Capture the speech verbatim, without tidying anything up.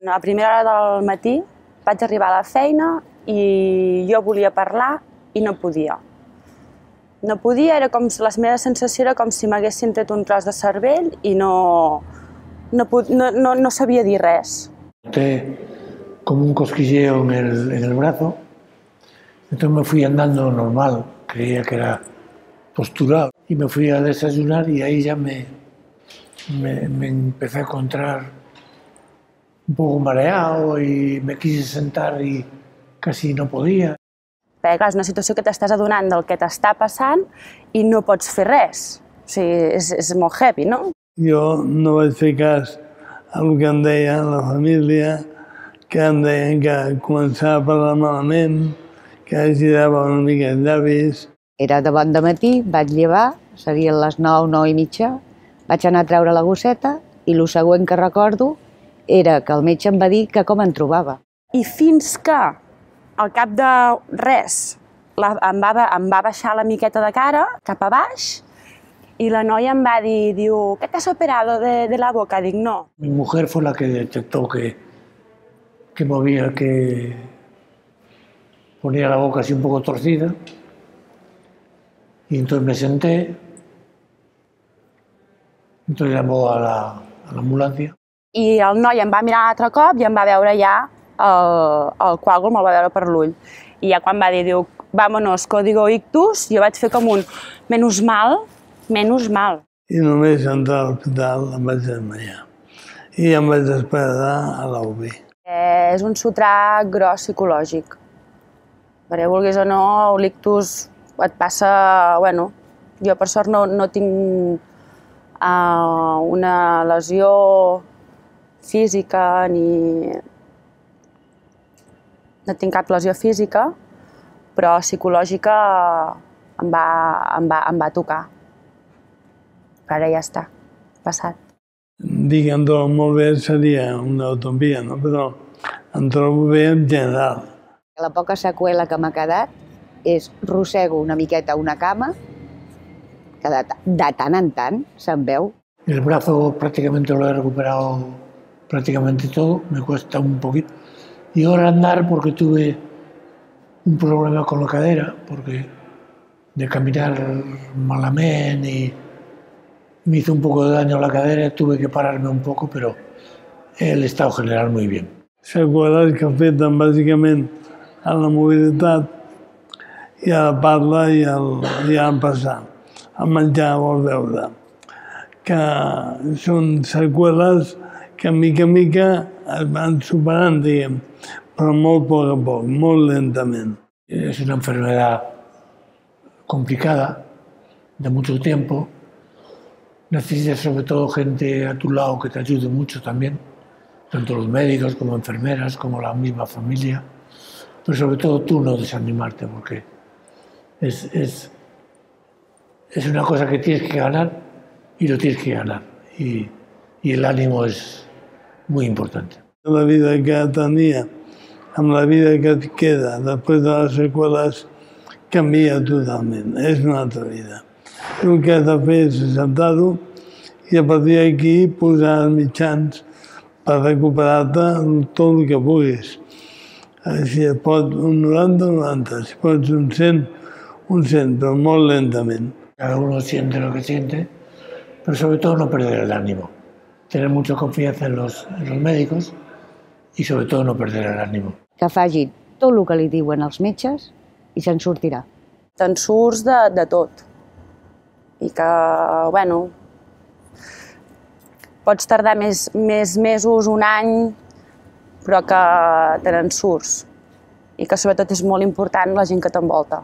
A primera hora del matí vaig arribar a la feina i jo volia parlar i no podia. No podia, era com si la meva sensació era com si m'haguessin tret un tros de cervell i no, no, no, no, no sabia dir res. Noté como un cosquilleo en el, en el brazo, entonces me fui andando normal, creía que era postural, y me fui a desayunar y ahí ya me, me, me empecé a encontrar un poco mareado y me quise sentar y casi no podia. Perquè clar, és una situació que t'estàs adonant del que t'està passant i no pots fer res. O sigui, és, és molt heavy, no? Jo no vaig fer cas al que em deia la família, que em deien que començava a parlar malament, que girava una mica els llavis. Era de bon dematí, vaig llevar, serien les nou, nou i mitja, vaig anar a treure la gosseta i el següent que recordo era que el metge em va dir que com em trobava. I fins que, al cap de res, la, em, va, em va baixar la miqueta de cara, cap a baix, y la noia em va dir, diu, ¿qué te has operado de, de la boca? Dic, no. Mi mujer fue la que detectó que, que movía, que ponía la boca así un poco torcida, y entonces me senté, entonces llamó a la, a la ambulancia. I el noi em va mirar altre cop i em va veure ja el, el coàgul, me'l va veure per l'ull. I ja quan va dir, diu, vámonos, código ictus, jo vaig fer com un menys mal, menys mal. I només entrar a l'hospital em vaig desmaiar. I em vaig despertar a l'U B I. És un sotrac gros psicològic. Perquè vulguis o no, l'ictus et passa... Bueno, jo per sort no, no tinc uh, una lesió física ni... No tinc cap lesió física, però psicològica em va, em va, em va tocar. Però ara ja està, passat. Dir que em trobo molt bé seria una utopia, no? Però em trobo bé en general. La poca seqüela que m'ha quedat és rossego una miqueta una cama, que de, de tant en tant se'n veu. El brazo prácticamente lo he recuperado prácticamente todo, me cuesta un poquito. Y ahora andar porque tuve un problema con la cadera, porque de caminar malamente y me hizo un poco de daño a la cadera, tuve que pararme un poco, pero el estado general muy bien. Seqüeles que afecten bàsicament a la mobilitat i a la parla i al, i a passar, a menjar o a beure, que són seqüeles que mica en mica es van superant, diguem, però molt a poc a poc, molt lentament. Es una enfermedad complicada, de mucho tiempo. Necesitas sobre todo gente a tu lado que te ayude mucho también, tanto los médicos como enfermeras, como la misma familia. Pero sobre todo tú no desanimarte, porque es, es, es una cosa que tienes que ganar y lo tienes que ganar. Y, y el ánimo es muy importante. La vida que tenia amb la vida que et queda després de les seqüeles canvia totalment, és una altra vida. El que has de fer és acceptar-ho i a partir d'aquí posar els mitjans per recuperar-te tot el que puguis. Si et pot un noranta, un noranta, si pots un cent, un cent, però molt lentament. Cada uno siente lo que siente, pero sobre todo no perder el ánimo. Tener mucha confianza en los, en los médicos y sobre todo no perder el ánimo. Que faci tot el que li diuen els metges i se'n sortirà. Te'n surts de, de tot. I que, bueno, pots tardar més, més mesos, un any, però que te n'en surts. I que sobretot és molt important la gent que t'envolta.